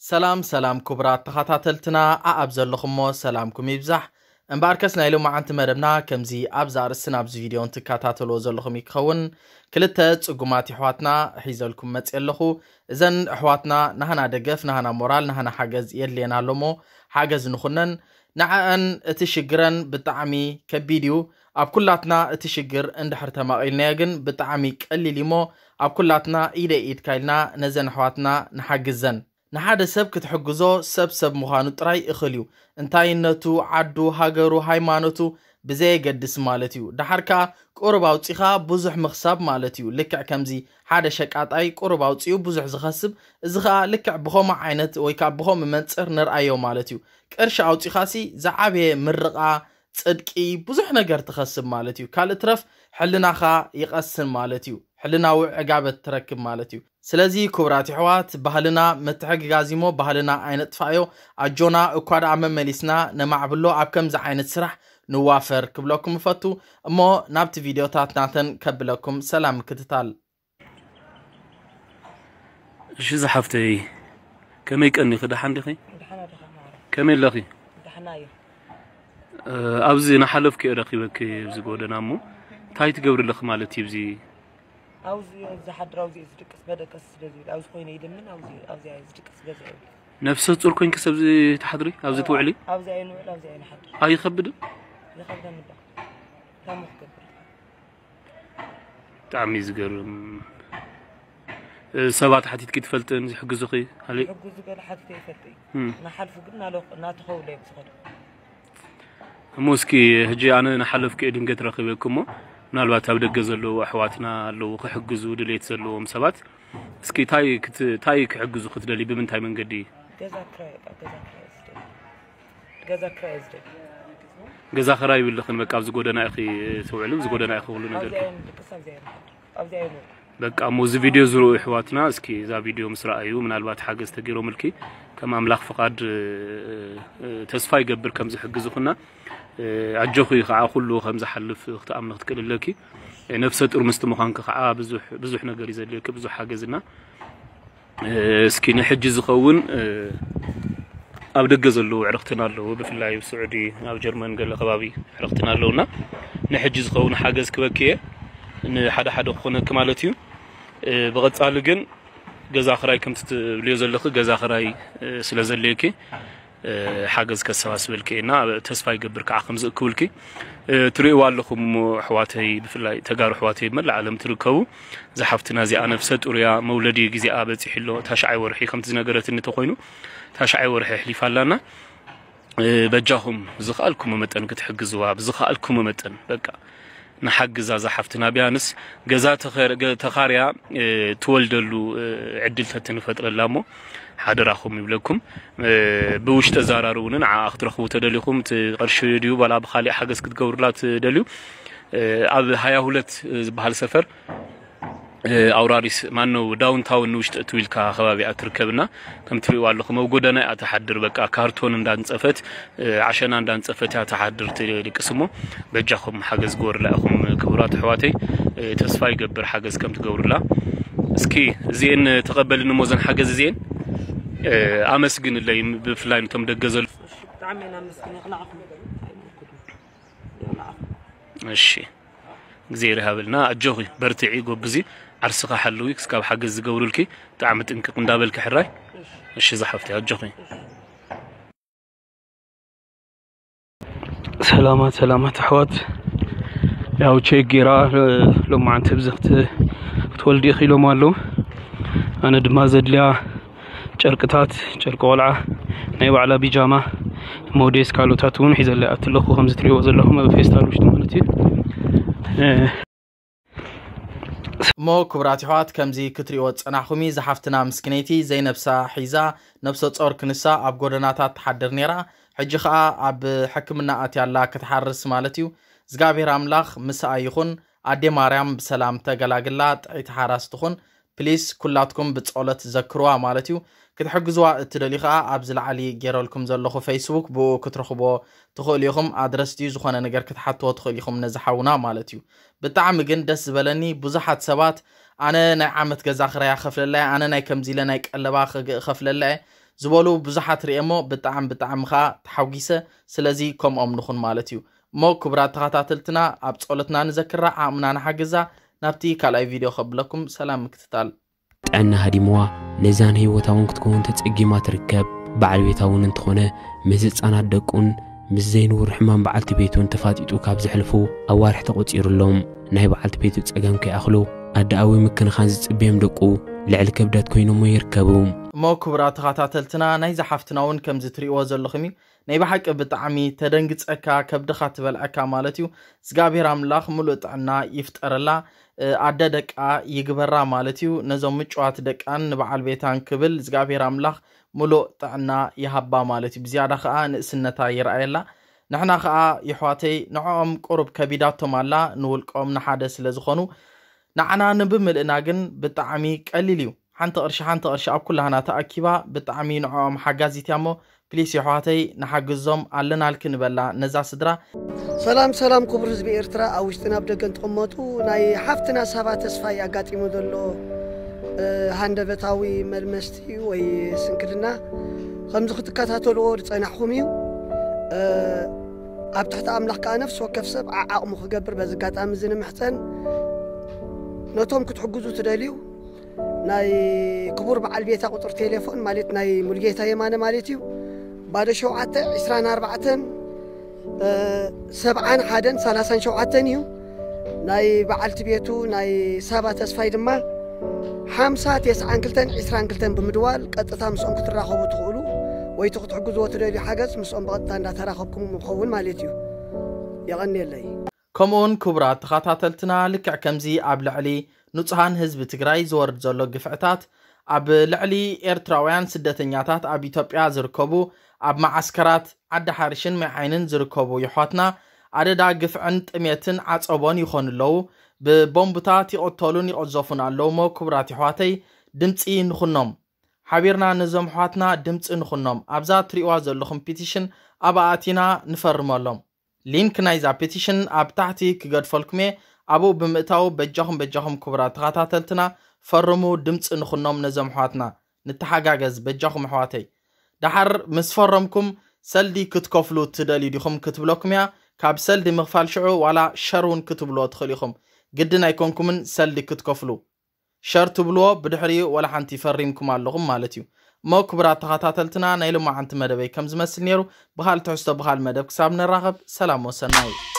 ሰላም ሰላም ክቡራት ተኸታተልትና፣ ኣኣብ ዘለኹሞ ሰላምኩም ይብዛሕ። እምበኣርከስ ናይ ሎማዓንቲ መደብና ከምዚ ኣብዚ ኣርእስትን ኣብዚ ቪድዮን ትከታተልዎ ዘለኹም ይክኸውን። ክልተ ጽጉማት ኣሕዋትና ሒዘልኩም መጽእ ኣለኹ። እዘን ኣሕዋትና ናህና ደገፍ፣ ናህና ሞራል፣ ናህና ሓገዝ የድልየና ኣሎሞ ሓገዝ ንኹነን። ንዓኣን እቲ ሽግረን ብጣዕሚ ከቢድ እዩ። ኣብ ኩላትና እቲ ሽግር እንድሕር ተማቒልናዮ ግን ብጣዕሚ ቀሊል እዩሞ፣ ኣብ ኩላትና ኢደ ኢድካ ኢልና ነዘን ኣሕዋትና ንሓግዘን። ንሓደ ሰብ ክትሕግዞ ሰብ ሰብ ምዃኑ ጥራይ እኽል እዩ። እንታይነቱ፣ ዓዱ፣ ሃገሩ፣ ሃይማኖቱ ብዘየገድስ ማለት እዩ። ደሓር ከኣ ቁሩብ ኣውጺኻ ብዙሕ ምኽሳብ ማለት እዩ። ልክዕ ከምዚ ሓደ ሸቃጣይ ቁሩብ ኣውጺኡ ብዙሕ ዝኸስብ፣ እዚ ኸኣ ልክዕ ብኸምኡ ዓይነት ወይ ከኣ ብኸምኡ መንጽር ንርኣዮ ማለት እዩ። ቅርሺ ኣውጺኻሲ ዝዓበየ ምርቓ፣ ጽድቂ፣ ብዙሕ ነገር ትኸስብ ማለት እዩ። ካልእ ትረፍ ሕልናኻ ይቐስን ማለት እዩ። ሕልናዊ ዕጋበት ትረክብ ማለት እዩ። ስለዚ ክቡራት ኣሕዋት፣ ባህልና ምትሕግጋዝ እሞ ባህልና ኣይነጥፋዮ። ኣጆና እኳ ደኣ መመሊስና ነማዕብሎ፣ ኣብ ከምዚ ዓይነት ስራሕ ንዋፈር ክብለኩም እፈቱ። እሞ ናብቲ ቪድዮታት ናተን ከብለኩም። ሰላም ምክትታል። እሺ ዝሓፍተይ፣ ከመይ ቀኒኺ? ደሓን ዲኺ? ደሓና ዲኻ ማዕረ? ከመይ ኣለኺ? ደሓና እየ። እ፣ ኣብዚ ናሓለፍኩ እየ ረኺበኪ ኣብዚ ጎደና እሞ እንታይ ትገብሪ ኣለኺ ማለት እዩ? እዚ ኣብዚ ዝሓድር ኣብዚ እዩ ዝድቅስ መደቀሲ ስለ ዝብል ኣብዚ ኮይነ ይድምን ኣብዚ ኣብዚ እዩ ዝድቅስ ገዛ ይብል። ነፍሰ ፁር ኮይንኪ ሰብዚ ትሓድሪ ኣብዚ ትውዕሊ? ኣብዚ ኣይንውዕል ኣብዚ ኣይንሓድር። ኣይኸብድን? ይኸብደኒ ዶ? ታሞ ክገብር። ብጣዕሚ እዩ ዝገርም። እ፣ ሰባት ሓቲትኪ ትፈልጥን ዝሕግዙኺ? ኣለ? ሕጉዝ ዝበለ ሓቲተ ይፈልጥ እዩ። እም። ናሓልፉ ግን ናሎ- ናተኸውለ እዮም ዝኸዱ። እሞ እስኪ ሕጂ ኣነ ንሓለፍኩ እየ ድንገት ረኺበኪ እሞ ምናልባት ኣብ ደገ ዘለዉ ኣሕዋትና ኣለዉ ክሕግዙ ድሌት ዘለዎም ሰባት እስኪ ታይ ክት- ታይ ክሕግዙ ክትደሊ ብምንታይ መንገዲ? ገዛ ክራይ በቃ ገዛ ክራይ ዝደሊ። ገዛ ክራይ ዝደሊ። ገዛ ኸራይ ይብልኽን በቃ ኣብዚ ጎደና ኢኺ ትውዕሉ ኣብዚ ጎደና ኢኺ ኩሉ ነገር ኣብዚ ኣይንድቅስ ኣብዚ ኣይንሓድር። ኣብዚ ኣይንውዕል። በቃ እሞ እዚ ቪድዮ ዝርኡ ኣሕዋትና እስኪ እዛ ቪድዮ ምስ ረኣዩ ምናልባት ሓገዝ ተገይሮምልኪ ከም ኣምላኽ ፍቓድ እ፣ እ፣ ተስፋ ይገብር ከም ዝሕግዙኽና እ፣ ኣጆኺ ከዓ ኩሉ ከም ዝሓልፍ ክትኣምኒ ክትክእል ኣለኪ። እ፣ ነፍሰ ጡር ምስቲ ምዃንኪ ከዓ ብዙሕ ብዙሕ ነገር እዩ ዘድልየኪ ብዙሕ ሓገዝና እ፣ እስኪ ንሕጂ ዝኸውን እ፣ ኣብ ደገ ዘለዉ ዕርኽትና ኣለዉ ብፍላይ ኣብ ስዑዲ ኣብ ጀርመን ገለ ከባቢ ዕርኽትና ኣለዉና ንሕጂ ዝኸውን ሓገዝ ክበኪ እየ ንሓደ ሓደ ክኾነኪ ማለት እዩ እ፣ ብቐጻሊ ግን ገዛ ክራይ ከምቲ ትብልዮ ዘለኺ ገዛ ክራይ እ፣ ስለ ዘድልየኪ እ፣ ሓገዝ ከሰባስበልኪ እየ እና ተስፋ ይገብር ከዓ ከም ዝእክብልኪ እ፣ ትርእይዋ ኣለኹም እሞ ኣሕዋተይ ብፍላይ ተጋሩ ኣሕዋተይ መላእ ዓለም ትርከቡ እዛ ሓፍትና እዚኣ ነፍሰ ጡር እያ መውለዲ ግዜኣ በፂሑ ኣሎ ታሽዓይ ወርሒ ከምቲ ዝነገረትኒ ተኮይኑ ታሽዓይ ወርሒ ኣሕሊፋ ኣላና እ፣ በጃኹም ብዝኸኣልኩሞ መጠን ክትሕግዝዋ ብዝኸኣልኩሞ መጠን በቃ ንሓግዛ እዛ ሓፍትና ቢያንስ ገዛ ተኸር- ገ- ተኻርያ እ፣ ትወልደሉ እ፣ ዕድል ተትንፈጥረላ እሞ ሓደራኹም ይብለኩም እ፣ ብውሽጢ ኣዘራርቡኒ ንዓኣ ክትረኽቡ ተደሊኹም እቲ ቅርሺ ድዩ ዋላ ብካሊእ ሓገዝ ክትገብሩላ ትደልዩ እ፣ ኣብ ሃያ ሁለት ዝበሃል ሰፈር እ፣ ኣውራሪስ ማነው ዳውንታውን ንውሽጢ እትው ኢልካ ከባቢኣ ትርከብና ከም ትሪእዋ ኣለኹም ኣብ ጎደና እያ ትሓድር በቃ ካርቶን እንዳንፀፈት እ፣ ዓሸና እንዳንፀፈት እያ ትሓድር ትልቅስ እሞ በጃኹም ሓገዝ ግበሩላ ኢኹም ክቡራት ኣሕዋተይ እ፣ ተስፋ ይገብር ሓገዝ ከም ትገብሩላ እስኪ እዚኤን ተቐበልኒ እሞ ዘን ሓገዝ እዚኤን እ፣ ኣመስግንለይ ብፍላይ ንቶም ደገ ዘሎ እሺ፣ ብጣዕሚ ኢና ነመስግን። ይቕናዕኩም። ይቕናዕኩም። እሺ እግዚኣብሔር ይሃበልና ኣጆኺ በርትዒ ጎብዚ ዓርስኻ ሓልዊ ክስካብ ሓገዝ ዝገብሩልኪ ብጣዕሚ ጥንቅቕ እንዳበልኪ ሕራይ እሺ ዝሓፍቲ ኣጆኺ ሰላማት ሰላማት ኣሕዋት ያው ቼክ ጌራ ሎማዓንቲ ብዚ ክት- ክትወልዲ ኢኺ ኢሎም ኣለዉ ኣነ ድማ ዘድልያ ጨርቅታት ጨርቂ ቆልዓ ናይ ባዕላ ቢጃማ ሞዴስ ካልኦታት እውን ሒዘለ ኣትለኹ ከምዚ ትሪእዎ ዘለኹም ኣብ ፌስታል ውሽጢ ማለት እዩ እ፣ እሞ ክቡራት ይሕዋት ከምዚ ክትሪእዎ ዝጸናሕኹም እዩ ዝሓፍትና ምስክነይቲ ዘይነብሳ ሒዛ ነብሰ ጾር ክንሳ ኣብ ጎደናታት ትሓድር ነይራ ሕጂ ኸኣ ኣብ ሕክምና ኣትያ ኣላ ክትሓርስ ማለት እዩ እግዚኣብሔር ኣምላኽ ምስኣ ይኹን ኣዴ ማርያም ብሰላም ተገላግላ ጥዕይቲ ሓራስ ትኹን ፕሊስ ኩላትኩም ብጸሎት ዘክርዋ ማለት እዩ ክትሕግዝዋ እትደልዩ ከኣ ኣብዚ ላዕሊ ገይረልኩም ዘለኹ ፌስቡክ ብኡ ክትረኽብዎ ትኽእሉ ኢኹም ኣድረስ ድዩ ዝኾነ ነገር ክትሓትዎ ትኽእሉ ኢኹም ነዚ ሓውና ማለት እዩ ብጣዕሚ ግን ደስ ዝበለኒ ብዙሓት ሰባት ኣነ ናይ ዓመት ገዛ ክራያ ከፍለላ ኣነ ናይ ከምዚ ኢለ ናይ ቀለባ ከፍለላ ዝበሉ ብዙሓት ርእየ እሞ ብጣዕሚ ብጣዕሚ ኸዓ ተሓጒሰ። ስለዚ ከምኦም ንኹን ማለት እዩ። እሞ ክቡራት ተኸታተልትና ኣብ ጸሎትና ንዘክራ፣ ዓቕምና ንሓግዛ። ናብቲ ካልኣይ ቪድዮ ከብለኩም ሰላም ምክትታል። ጥዕና ሃዲምዋ ነዛን ህይወታ እውን ክትከውን ተጸጊማ ትርከብ። በዓል ቤታ እውን እንተኾነ ምስ ህጻናት ደቁን ምስ ዘይንውር ሕማም በዓልቲ ቤቱን ተፋጢጡ ካብ ዘሕልፉ ኣዋርሕ ተቖጺሩሎም። ናይ በዓልቲ ቤቱ ጸገም ከይኣኽሎ ኣደኣዊ ምክንኻን ዝጽበዮም ደቁ ልዕሊ ክብደት ኮይኖሞ ይርከቡ። እሞ ክቡራት ተኸታተልትና ናይዛ ሓፍትና እውን ከምዚ ትርእይዎ ዘለኹም እዩ። ናይ ብሓቂ ብጣዕሚ ተደንግጸካ፣ ከብድኻ ትበልዐካ ማለት እዩ። እግዚኣብሔር ኣምላኽ ሙሉእ ጥዕና ይፍጠረላ። ኣደ ደቃ ይግበራ ማለት እዩ። ነዞም ምጭዋት ደቃን ንበዓል ቤታን ክብል እግዚኣብሔር ኣምላኽ ሙሉእ ጥዕና ይሃባ ማለት እዩ። ብዝያዳ ኸዓ ንእስነታ ይረኣየላ። ንሕና ኸዓ ይሕዋተይ ንዕኦም ቁሩብ ከቢዳቶም ኣላ፣ ንውልቆም ንሓደ ስለ ዝኾኑ። ንዓና ንብምልእና ግን ብጣዕሚ ቀሊል እዩ። ሓንቲ ቅርሺ ሓንቲ ቅርሺ ኣብ ኩላህና ተኣኪባ ብጣዕሚ ንዕኦም ሓጋዚት እያ እሞ ፕሊስ ይሕዋተይ ንሓግዞም ኣለናልኪ ንበላ ነዛ ስድራ። ሰላም ሰላም ክቡር ህዝቢ ኤርትራ ኣብ ውሽጥን ኣብ ደገን ትቕመጡ ናይ ሓፍትና ሳባ ተስፋይ ኣጋጢሙ ዘሎ ሃንደበታዊ መልመስቲ ወይ ስንክልና ከምዚ ክትከታተልዎ ዝጸናሕኹም እዩ። ኣብ ትሕቲ ኣምላኽ ከኣ ነፍሲ ወከፍ ሰብ ዓዓቕሙ ክገብር በዚ ኣጋጣሚ እዚ ንምሕጸን። ነቶም ክትሕግዙ ትደልዩ ናይ ክቡር በዓል ቤታ ቁጽሪ ቴሌፎን ማለት ናይ ሙልጌታ የማነ ማለት እዩ። ባዶ ሸውዓተ ዕስራን ኣርባዕተን ሰብዓን ሓደን ሰላሳን ሸውዓተን እዩ። ናይ በዓልቲ ቤቱ ናይ ሳባ ተስፋይ ድማ ሓምሳ ተስዓን ክልተን ዕስራን ክልተን ብምድዋል ቀጥታ ምስኦም ክትራኸቡ ትኽእሉ ወይ እቲ ክትሕግዝዎ ትደልዩ ሓገዝ ምስኦም ብቐጥታ እንዳተራኸብኩም ምኸውን ማለት እዩ። የቐንየለይ። ከምኡውን ክቡራት ተኸታተልትና ልክዕ ከምዚ ኣብ ልዕሊ ንጹሃን ህዝቢ ትግራይ ዝወርድ ዘሎ ግፍዕታት ኣብ ልዕሊ ኤርትራውያን ስደተኛታት ኣብ ኢትዮጵያ ዝርከቡ ኣብ መዓስከራት ዓዲ ሓርሽን ማይ ዓይንን ዝርከቡ ይሖትና ኣደዳ ግፍዕን ጥሜትን ዓጸቦን ይኾኑ ኣለዉ። ብቦምብታት ይቕተሉን ይቕዘፉን ኣለዉ እሞ ክቡራት ይሕዋተይ ድምፂ ንኹኖም። ሓቢርና ነዞም ኣሕዋትና ድምፂ ንኹኖም። ኣብዛ ትሪእዋ ዘለኹም ፒቲሽን ኣብኣ ኣቲና ንፈርመሎም። ሊንክ ናይዛ ፒቲሽን ኣብ ታሕቲ ክገድፈልኩም እየ። ኣብኡ ብምእታው በጃኹም በጃኹም ክቡራት ተኸታተልትና ፈርሙ፣ ድምፂ ንኹኖም ነዞም ኣሕዋትና። ንተሓጋገዝ በጃኹም ኣሕዋተይ። ደሓር ምስ ፈረምኩም ሰልዲ ክትከፍሉ ትደልዩ ዲኹም ክትብለኩም እያ። ካብ ሰልዲ ምኽፋል ሽዑ ዋላ ሸር እውን ክትብልዎ ትኽእሉ ኢኹም። ግድን ኣይኮንኩምን ሰልዲ ክትከፍሉ። ሸር ትብልዎ ብድሕሪኡ ዋላ ሓንቲ ፈሪምኩም ኣለኹም ማለት እዩ። እሞ ክቡራት ተኸታተልትና ናይ ሎማዓንቲ መደበይ ከም ዝመስል ነይሩ። ብኻል ትሕዝቶ ብኻል መደብ ክሳብ ንራኸብ ሰላም ወሰናይ።